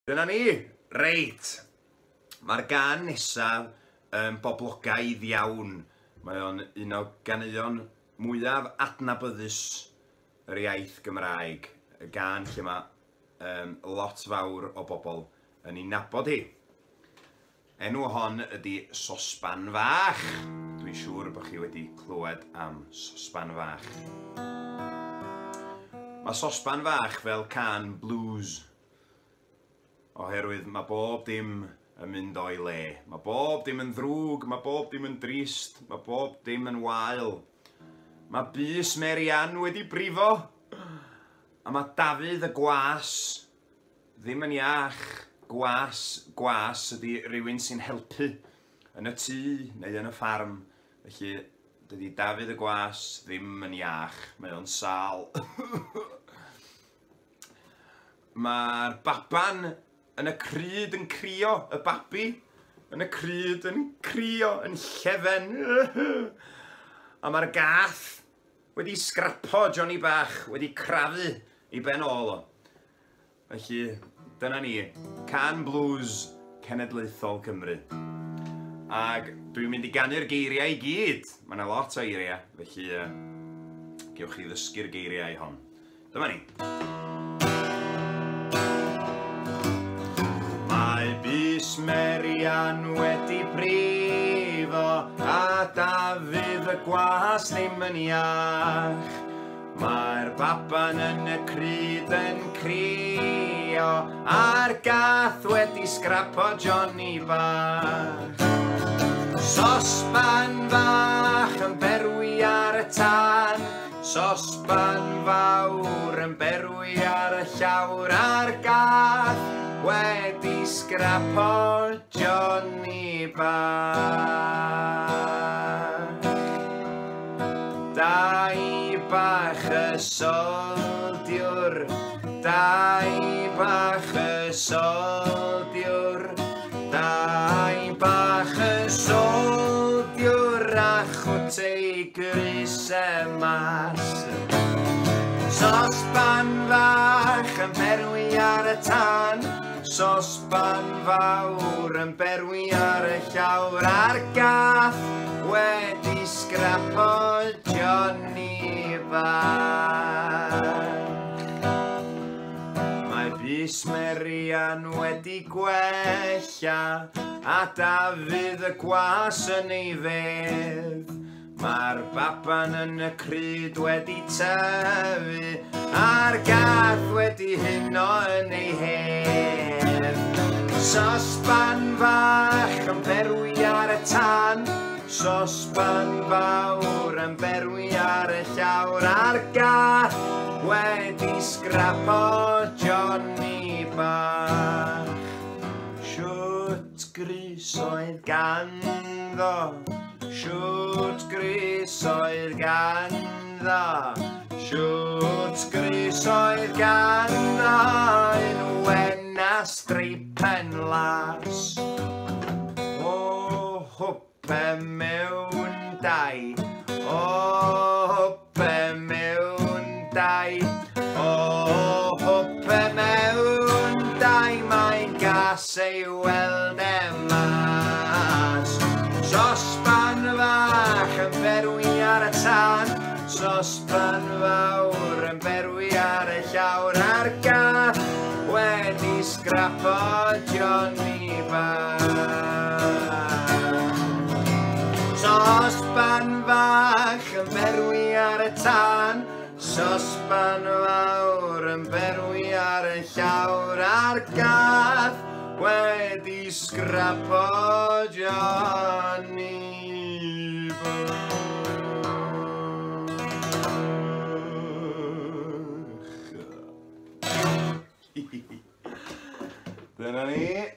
Dyna ni! Reit! Mae'r gân nesaf yn boblogaidd iawn. Mae o'n un o ganeuon mwyaf adnabyddus yr iaith Gymraeg. Y gân lle mae um, lot fawr o bobl yn ei nabod hi. Enw hon ydy Sosban Fach. Dwi'n siŵr bod chi wedi clywed am Sosban Fach. Mae Sosban Fach fel cân blues. Oherwydd mae bob dim yn mynd o'i le. Mae bob dim yn ddrwg, mae bob dim yn drist, mae bob dim yn wael. Mae bys Mary Ann wedi brifo, a mae Dafydd y gwas ddim yn iach. Gwas, gwas ydy rhywun sy'n helpu yn y tŷ neu yn y ffarm. Felly, dydy Dafydd y gwas ddim yn iach, mae o'n sâl. Mae'r baban yn y crud yn crio, y babi yn y crud yn crio, yn llefen. A mae'r gath wedi sgrapo Johnny bach, wedi crafu ei ben ôl o. Felly, dyna ni, Cân Blues Cenedlaethol Cymru. Ac dwi'n mynd i ganu'r geiriau i gyd. Mae yna lot o eiriau, felly gewch chi ddysgu'r geiriau hon. Dyma ni. Mae bys Mary Ann wedi brifo, a Dafydd y gwas ddim yn iach. Mae'r baban yn y crud yn crio, a'r gath wedi sgrapo Johnny bach. Sosban fach yn berwi ar y tân, sosban fawr yn berwi ar y llawr, a'r gath wedi sgrapo Johnny bach. Dau bach y soldiwr, dau bach y soldiwr, dau bach y soldiwr a chwt ei grys e mas. Sosban fach yn berwi ar y tân, sosban fawr yn berwi ar y llawr, a'r gath wedi sgrapo Johnny bach. Mae bys Mary Ann wedi gwella, a Dafydd y gwas yn ei fedd. Mae'r baban yn y crud wedi tyfu, a'r gath wedi huno yn ei hedd. Sosban fach yn berwi ar y tân, sosban fawr yn berwi ar y llawr, a'r gath wedi sgrapo Johnny bach. Shwt grys oedd ganddo, shwt grys oedd ganddo, shwt grys oedd ganddo, un wen a streipen las. O hwpe mewn dau, o hwpe mewn dau, o hwpe mewn dau, mae'n gas ei weld e mas. Sosban fach yn berwi ar y tân, sosban fawr yn berwi ar y llawr, a'r gath wedi sgrapo Johnny bach. Sosban fach yn berwi ar y tân, sosban fawr yn berwi ar y llawr, a'r gath wedi sgrapo Johnny bach. Dyna ni.